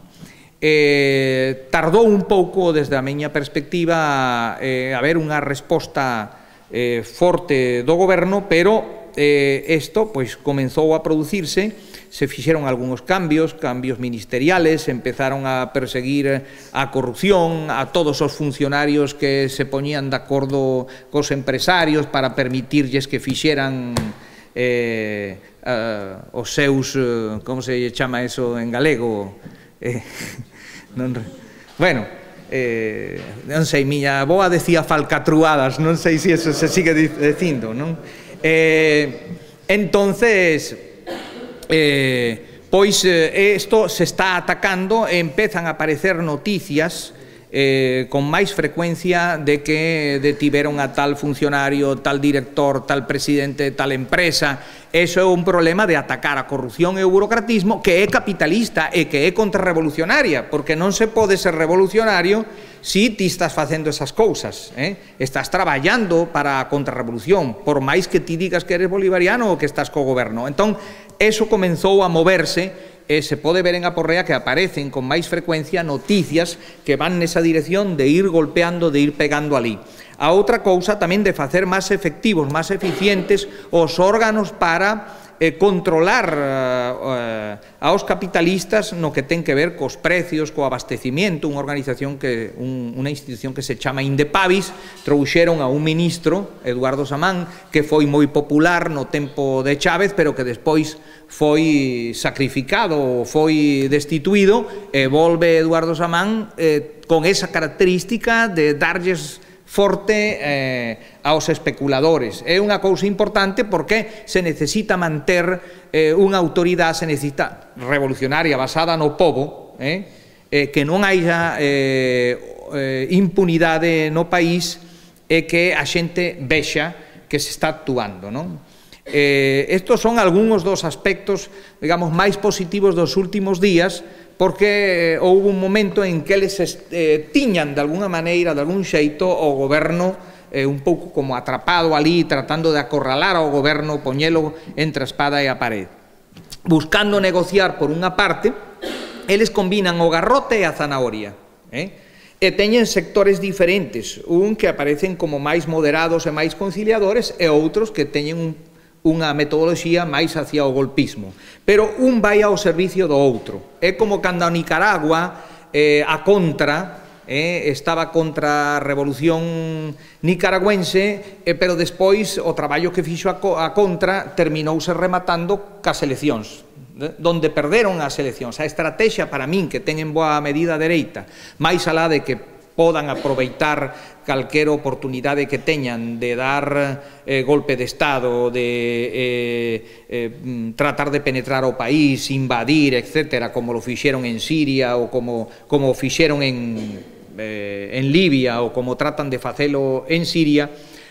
Eh, tardou un pouco, desde a miña perspectiva, eh, haber unha resposta eh, forte do goberno, pero eh, isto pois, comenzou a producirse, se fixeron algúns cambios, cambios ministeriales, empezaron a perseguir a corrupción, a todos os funcionarios que se poñían de acordo cos empresarios para permitirlles que fixeran eh, uh, os seus, uh, como se chama eso en galego? Eh, non, bueno, eh, non sei, miña avoa decía falcatruadas, non sei se eso se sigue dicindo, non? Eh, entonces... Eh, pois eh, isto se está atacando e empezan a aparecer noticias eh, con máis frecuencia de que detiveron a tal funcionario, tal director, tal presidente de tal empresa. Eso é un problema de atacar a corrupción e o burocratismo, que é capitalista e que é contrarrevolucionaria, porque non se pode ser revolucionario si ti estás facendo esas cousas, eh? Estás traballando para a contrarrevolución, por máis que ti digas que eres bolivariano ou que estás co goberno. Entón, eso comenzou a moverse e se pode ver en Aporrea que aparecen con máis frecuencia noticias que van nesa dirección de ir golpeando, de ir pegando ali. A outra cousa tamén de facer máis efectivos, máis eficientes os órganos para eh, controlar eh, aos capitalistas no que ten que ver cos precios, co abastecimiento. Unha organización que, un, unha institución que se chama Indepavis, trouxeron a un ministro, Eduardo Samán, que foi moi popular no tempo de Chávez, pero que despois foi sacrificado, foi destituído, e volve Eduardo Samán eh, con esa característica de darlles forte eh, aos especuladores. É unha cousa importante porque se necesita manter eh, unha autoridade, se necesita revolucionaria basada no pobo, eh, eh, que non haxa eh, eh, impunidade no país e que a xente vexa que se está actuando, non? Eh, estos son algúns dos aspectos, digamos, máis positivos dos últimos días, porque houve un momento en que eles eh, tiñan de alguna maneira, de algún xeito, o goberno eh, un pouco como atrapado ali, tratando de acorralar ao goberno, poñelo entre a espada e a pared. Buscando negociar por unha parte, eles combinan o garrote e a zanahoria, eh? E teñen sectores diferentes, un que aparecen como máis moderados e máis conciliadores, e outros que teñen un unha metodoloxía máis hacia o golpismo. Pero un vai ao servicio do outro. É como cando a Nicaragua, eh, a contra, eh, estaba contra a revolución nicaragüense, eh, pero despois o traballo que fixo a, co a contra terminouse rematando cas eleccións, eh, donde perderon as eleccións. A estrategia para min que ten en boa medida dereita, máis alá de que podan aproveitar calquera oportunidade que teñan de dar eh, golpe de Estado, de eh, eh, tratar de penetrar o país, invadir, etcétera, como lo fixeron en Siria ou como, como fixeron en, eh, en Libia ou como tratan de facelo en Siria,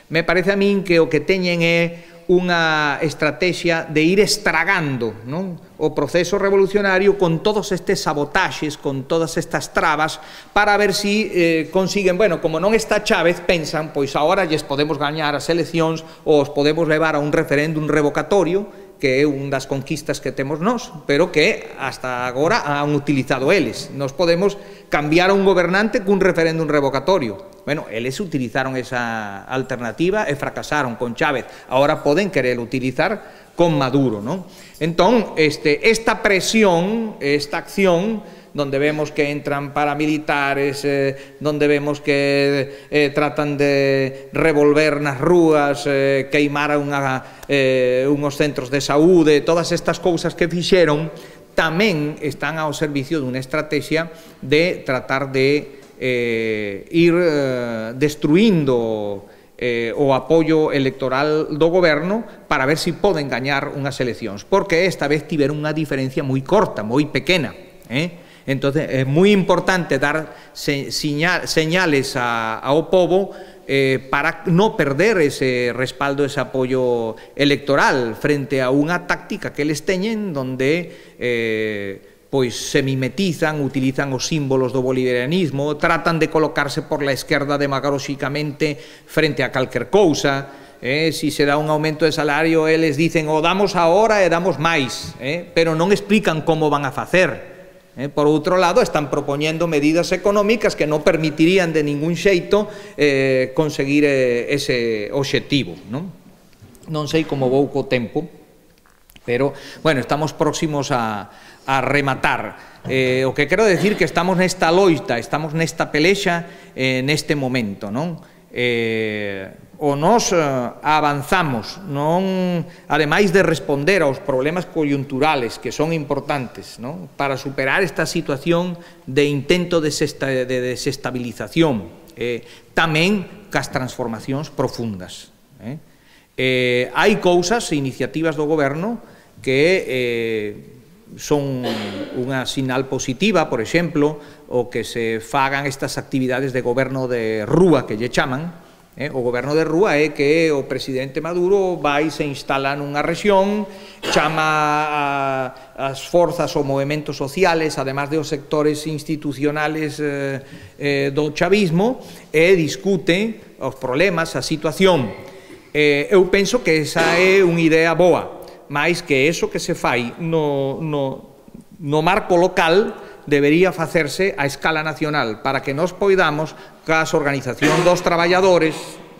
me parece a min que o que teñen é unha estrategia de ir estragando, non, o proceso revolucionario con todos estes sabotaxes, con todas estas trabas, para ver si eh, consiguen, bueno, como non está Chávez, pensan, pois agora lles podemos gañar as eleccións ou os podemos levar a un referéndum revocatorio, que é unha das conquistas que temos nós, pero que hasta agora han utilizado eles. Nos podemos cambiar a un gobernante cun referéndum revocatorio. Bueno, eles utilizaron esa alternativa e fracasaron con Chávez. Ahora poden querer utilizar con Maduro, non? Entón, este, esta presión, esta acción, donde vemos que entran paramilitares, eh, donde vemos que eh, tratan de revolver nas rúas, eh, queimar unha, eh, unhos centros de saúde, todas estas cousas que fixeron, tamén están ao servicio dunha estrategia de tratar de eh, ir eh, destruindo eh, o apoio electoral do goberno para ver se si poden gañar unhas eleccións, porque esta vez tiveron unha diferencia moi corta, moi pequena, eh? Entonces, é moi importante dar señales ao pobo eh, para non perder ese respaldo, ese apoio electoral frente a unha táctica que eles teñen donde eh, pois se mimetizan, utilizan os símbolos do bolivarianismo, tratan de colocarse por la esquerda demagóxicamente frente a calquer cousa. Eh, si se dá un aumento de salario, eles dicen o damos agora e damos máis, eh, pero non explican como van a facer. Eh, por outro lado, están propoñendo medidas económicas que non permitirían de ningún xeito eh, conseguir eh, ese obxectivo, non? Non sei como vou co tempo, pero, bueno, estamos próximos a, a rematar. Eh, o que quero decir que estamos nesta loita, estamos nesta pelexa eh, neste momento, non? Eh, o nos eh, avanzamos, non, ademais de responder aos problemas coyunturales que son importantes, non, para superar esta situación de intento de desestabilización, eh, tamén cas transformacións profundas. Eh. Eh, hai cousas, iniciativas do goberno que eh, son unha sinal positiva, por exemplo, o que se fagan estas actividades de goberno de rúa que lle chaman. Eh, o goberno de rúa é que o presidente Maduro vai se instala nunha rexión, chama a, as forzas ou movimentos sociales, además de os sectores institucionales eh, eh, do chavismo, e discute os problemas, a situación. Eh, eu penso que esa é unha idea boa, máis que eso que se fai no, no, no marco local debería facerse a escala nacional para que nos poidamos cas organizacións dos traballadores,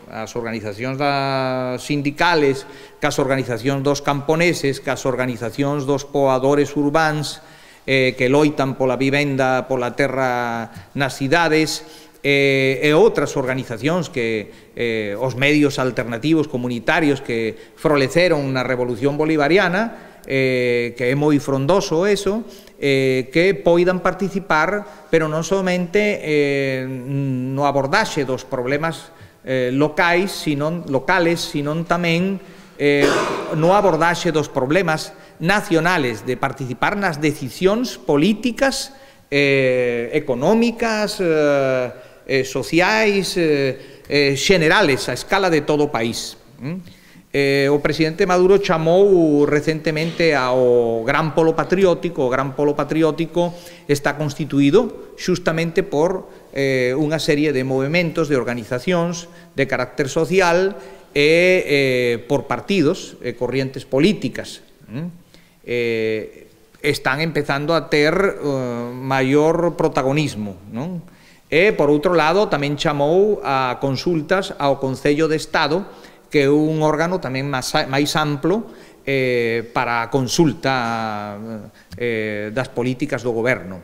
as organizacións das sindicales, cas organizacións dos camponeses, cas organizacións dos poboadores urbáns eh, que loitan pola vivenda, pola terra nas cidades, eh, e outras organizacións que eh, os medios alternativos comunitarios que floreceron na Revolución Bolivariana, eh, que é moi frondoso eso, Eh, que poidan participar, pero non somente eh, no abordaxe dos problemas eh, locais, sino, locales, sino tamén eh, no abordaxe dos problemas nacionales, de participar nas decisións políticas, eh, económicas, eh, eh, sociais, eh, eh, generales, a escala de todo o país. ¿Mm? Eh, o presidente Maduro chamou recentemente ao Gran Polo Patriótico. O Gran Polo Patriótico está constituído xustamente por eh, unha serie de movimentos, de organizacións de carácter social e eh, por partidos e corrientes políticas. Eh, están empezando a ter uh, maior protagonismo, non? E, por outro lado, tamén chamou a consultas ao Concello de Estado, que é un órgano tamén máis, máis amplo eh, para a consulta eh, das políticas do goberno.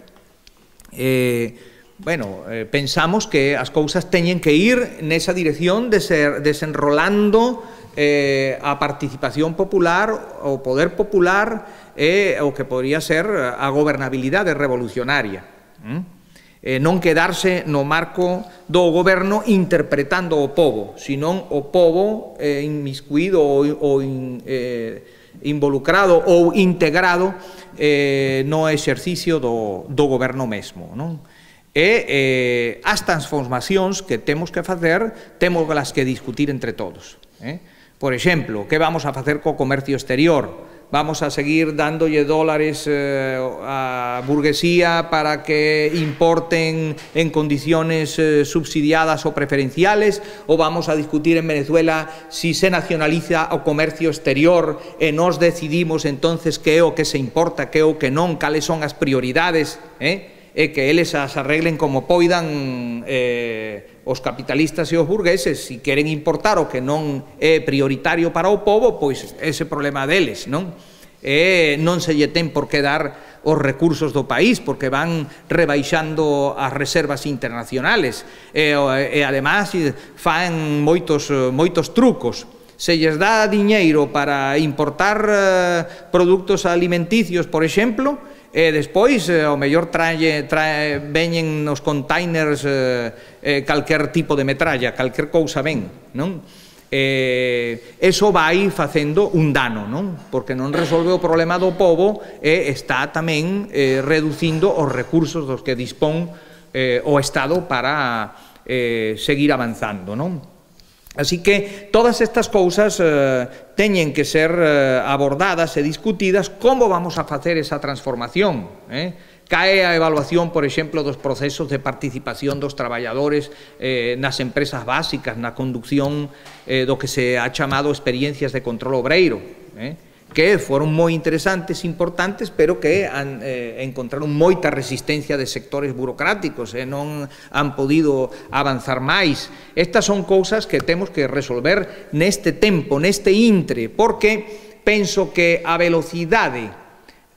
Eh, Bueno, eh, pensamos que as cousas teñen que ir nesa dirección de ser desenrolando eh, a participación popular, o poder popular e eh, o que podría ser a gobernabilidade revolucionaria. ¿Mm? Eh, non quedarse no marco do goberno interpretando o pobo, senón o pobo eh, inmiscuído ou, ou in, eh, involucrado ou integrado eh, no exercicio do, do goberno mesmo, non? E eh, as transformacións que temos que facer, temos las que discutir entre todos. Eh? Por exemplo, que vamos a facer co comercio exterior? Vamos a seguir dándolle dólares eh, á burguesía para que importen en condiciones eh, subsidiadas ou preferenciales, ou vamos a discutir en Venezuela si se nacionaliza o comercio exterior e nos decidimos entonces que é o que se importa, que é o que non, cales son as prioridades, eh? E que eles as arreglen como poidan eh, os capitalistas e os burgueses. Se queren importar o que non é prioritario para o pobo, pois ese problema deles, non? E non se lle ten por que dar os recursos do país, porque van rebaixando as reservas internacionales, e, e además fan moitos, moitos trucos. Se lles dá diñeiro para importar eh, produtos alimenticios, por exemplo, e despois, eh, ao mellor trae, trae, veñen nos containers eh, eh, calquer tipo de metralla, calquer cousa ben, non? Eh, eso vai facendo un dano, non? Porque non resolve o problema do pobo e está tamén eh, reducindo os recursos dos que dispón eh, o Estado para eh, seguir avanzando, non? Así que todas estas cousas eh, teñen que ser eh, abordadas e discutidas. Como vamos a facer esa transformación? Eh? Cae a evaluación, por exemplo, dos procesos de participación dos traballadores eh, nas empresas básicas, na conducción eh, do que se ha chamado experiencias de control obreiro, eh? que foron moi interesantes, importantes, pero que han, eh, encontraron moita resistencia de sectores burocráticos e eh, non han podido avanzar máis. Estas son cousas que temos que resolver neste tempo, neste intre, porque penso que a velocidade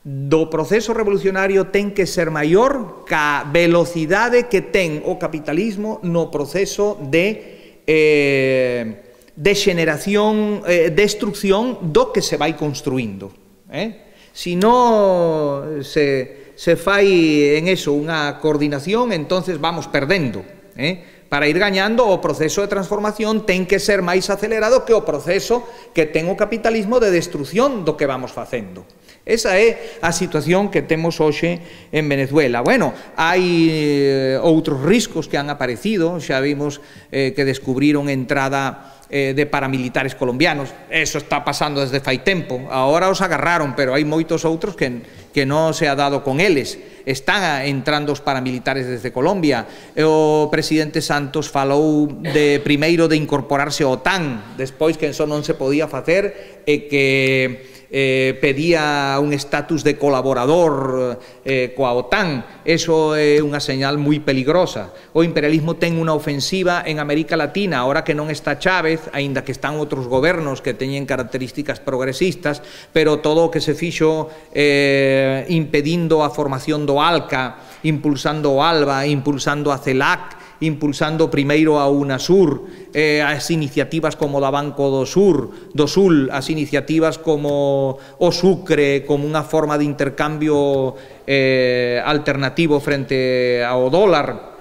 do proceso revolucionario ten que ser maior ca velocidade que ten o capitalismo no proceso de eh, de xeneración, eh, destrucción do que se vai construindo. Eh? Si non se, se fai en eso unha coordinación, entonces vamos perdendo. Eh? Para ir gañando, o proceso de transformación ten que ser máis acelerado que o proceso que ten o capitalismo de destrucción do que vamos facendo. Esa é a situación que temos hoxe en Venezuela. Bueno, hai eh, outros riscos que han aparecido, xa vimos eh, que descubriron entrada eh, de paramilitares colombianos. Eso está pasando desde fai tempo. Ahora os agarraron, pero hai moitos outros que, que non se ha dado con eles. Están entrando os paramilitares desde Colombia. O presidente Santos falou de primeiro de incorporarse ao OTAN, despois que eso non se podía facer e que Eh, pedía un estatus de colaborador eh, coa OTAN. Eso é unha señal moi peligrosa. O imperialismo ten unha ofensiva en América Latina, ahora que non está Chávez, aínda que están outros gobernos que teñen características progresistas, pero todo o que se fixo eh, impedindo a formación do ALCA, impulsando o ALBA, impulsando a CELAC, impulsando primeiro a UNASUR, eh, as iniciativas como da Banco do Sur, do Sul, as iniciativas como o Sucre, como unha forma de intercambio eh, alternativo frente ao dólar.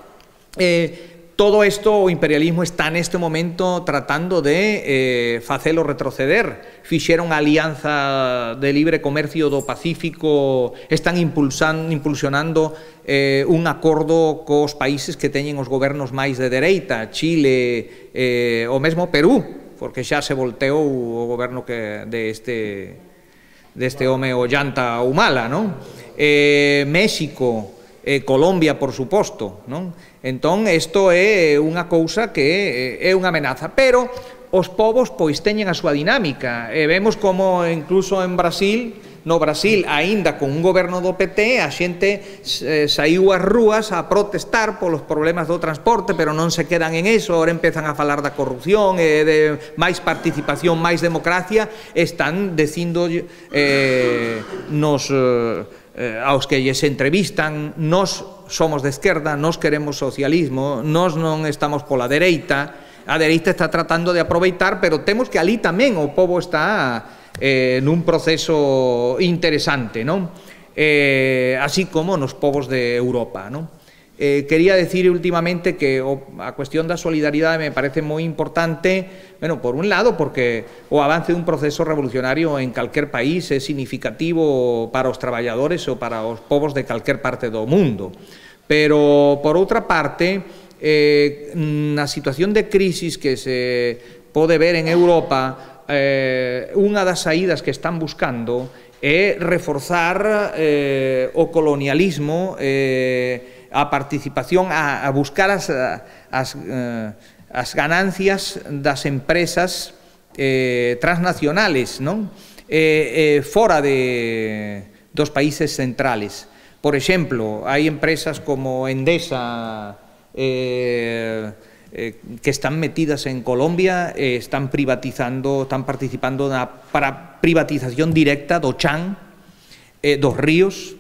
Eh, Todo isto o imperialismo está neste momento tratando de eh, facelo retroceder. Fixeron a Alianza de Libre Comercio do Pacífico, están impulsando, impulsionando eh, un acordo cos países que teñen os gobernos máis de dereita, Chile, eh, o mesmo Perú, porque xa se volteou o goberno que de este, de este home Ollanta Humala, non? Eh, México, eh, Colombia, por suposto, non? Entón, isto é unha cousa que é unha amenaza, pero os povos pois teñen a súa dinámica, e vemos como incluso en Brasil, no Brasil, aínda con un goberno do P T, a xente eh, saiu ás rúas a protestar polos problemas do transporte, pero non se quedan en eso, ahora empezan a falar da corrupción, eh, de máis participación, máis democracia, están dicindo eh, nos... Eh, Eh, aos que lles entrevistan, nós somos de esquerda, nós queremos socialismo, nós non estamos pola dereita, a dereita está tratando de aproveitar, pero temos que ali tamén o povo está eh, nun proceso interesante, non? Eh, así como nos povos de Europa, non? Eh, quería decir últimamente que o, a cuestión da solidaridade me parece moi importante, bueno, por un lado, porque o avance dun proceso revolucionario en calquer país é significativo para os traballadores ou para os povos de calquer parte do mundo. Pero, por outra parte, eh, na situación de crisis que se pode ver en Europa, eh, unha das saídas que están buscando é reforzar eh, o colonialismo, eh, a participación, a, a buscar as, as, eh, as ganancias das empresas eh, transnacionales, non? Eh, eh, fora de, dos países centrales. Por exemplo, hai empresas como Endesa eh, eh, que están metidas en Colombia, eh, están privatizando, están participando na para privatización directa do chan, eh, dos ríos,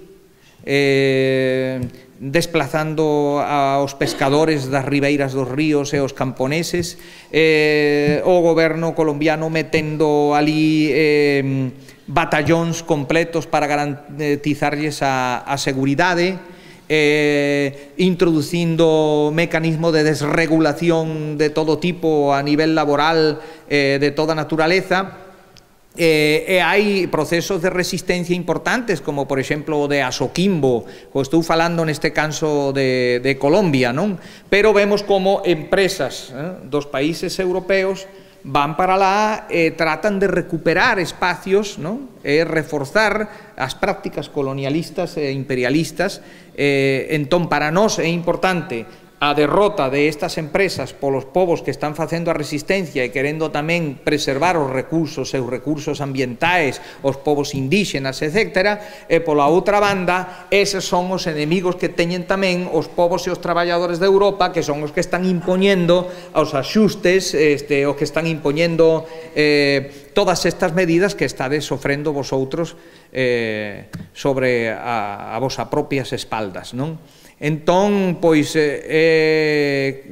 eh, desplazando aos pescadores das ribeiras dos ríos e os camponeses, eh, o goberno colombiano metendo ali eh, batallóns completos para garantizarlles a, a seguridade, eh, introducindo mecanismo de desregulación de todo tipo a nivel laboral, eh, de toda naturaleza. Eh, e hai procesos de resistencia importantes, como por exemplo o de Asoquimbo, o estou falando neste caso de, de Colombia, non? Pero vemos como empresas eh, dos países europeos van para lá e tratan de recuperar espacios, non? E reforzar as prácticas colonialistas e imperialistas. Eh, entón, para nós é importante a derrota de estas empresas polos povos que están facendo a resistencia e querendo tamén preservar os recursos, seus recursos ambientais, os povos indígenas, etcétera, e pola outra banda, eses son os enemigos que teñen tamén os povos e os traballadores de Europa, que son os que están impoñendo os axustes, este, os que están impoñendo eh, todas estas medidas que estades sofrendo vosotros eh, sobre a, a vosa propias espaldas, non? Entón, pois, é,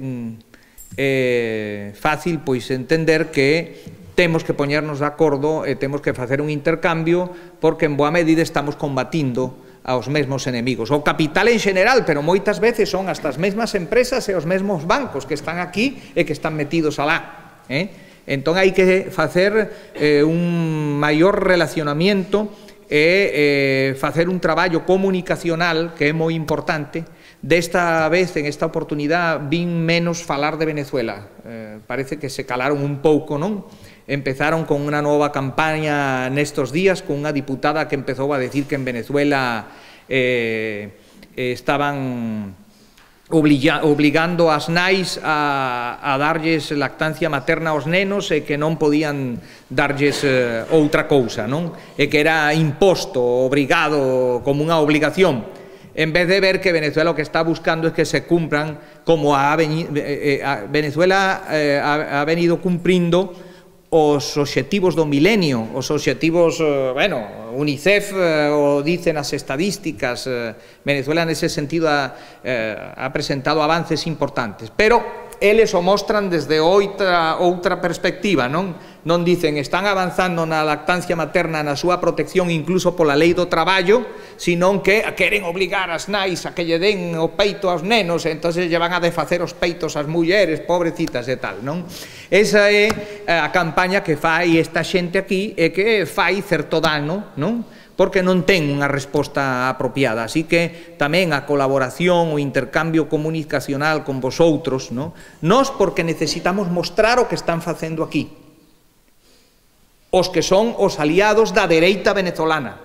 é fácil pois entender que temos que poñernos de acordo e temos que facer un intercambio, porque en boa medida estamos combatindo aos mesmos enemigos. O capital en general, pero moitas veces son hasta as mesmas empresas e os mesmos bancos que están aquí e que están metidos alá. Eh? Entón, hai que facer eh, un maior relacionamiento e eh, facer un traballo comunicacional que é moi importante. Desta vez, en esta oportunidade, vin menos falar de Venezuela. Eh, parece que se calaron un pouco, non? Empezaron con unha nova campaña nestos días, con unha diputada que empezou a decir que en Venezuela eh, estaban obliga, obligando as nais a, a darlles lactancia materna aos nenos e que non podían darlles eh, outra cousa, non? E que era imposto, obrigado, como unha obligación. En vez de ver que Venezuela o que está buscando es que se cumplan como ha venido, eh, eh, Venezuela eh, ha, ha venido cumprindo os obxectivos do milenio, os obxectivos, eh, bueno, UNICEF eh, o dicen as estadísticas, eh, Venezuela nese sentido ha, eh, ha presentado avances importantes, pero eles o mostran desde outra, outra perspectiva, non? Non dicen, están avanzando na lactancia materna, na súa protección, incluso pola lei do traballo, senón que queren obligar as nais a que lle den o peito aos nenos, e entonces lle van a desfacer os peitos ás mulleres, pobrecitas e tal, non? Esa é a campaña que fai esta xente aquí e que fai certo dano, non? Porque non ten unha resposta apropiada. Así que tamén a colaboración, o intercambio comunicacional con vosotros, non? Nós porque necesitamos mostrar o que están facendo aquí. Os que son os aliados da dereita venezolana.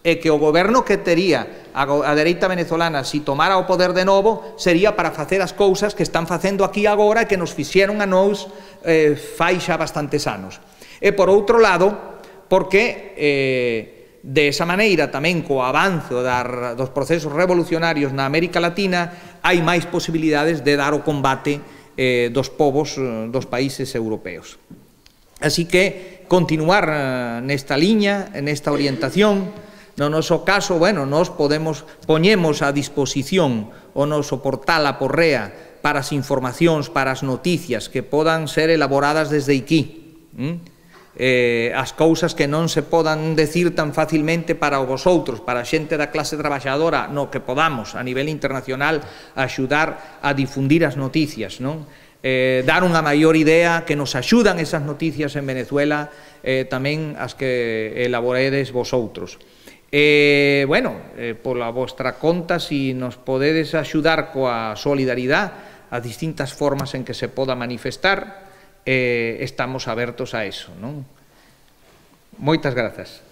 e que o goberno que tería a, a dereita venezolana si tomara o poder de novo sería para facer as cousas que están facendo aquí agora e que nos fixeron a nós eh, fai xa bastantes anos. E por outro lado, porque eh, de esa maneira tamén co avanzo dar, dos procesos revolucionarios na América Latina hai máis posibilidades de dar o combate eh, dos povos eh, dos países europeos. Así que continuar eh, nesta liña, nesta orientación. No noso caso, bueno, nos podemos, poñemos a disposición o noso portal a Porrea para as informacións, para as noticias que podan ser elaboradas desde aquí. ¿Mm? Eh, as cousas que non se podan decir tan facilmente para vosotros, para a xente da clase traballadora, no que podamos a nivel internacional axudar a difundir as noticias, non? Eh, dar unha maior idea que nos axudan esas noticias en Venezuela, eh, tamén as que elaboredes vosotros. Eh, bueno, eh, pola vostra conta, si nos podedes axudar coa solidaridade, as distintas formas en que se poda manifestar, eh, estamos abertos a eso, non? Moitas grazas.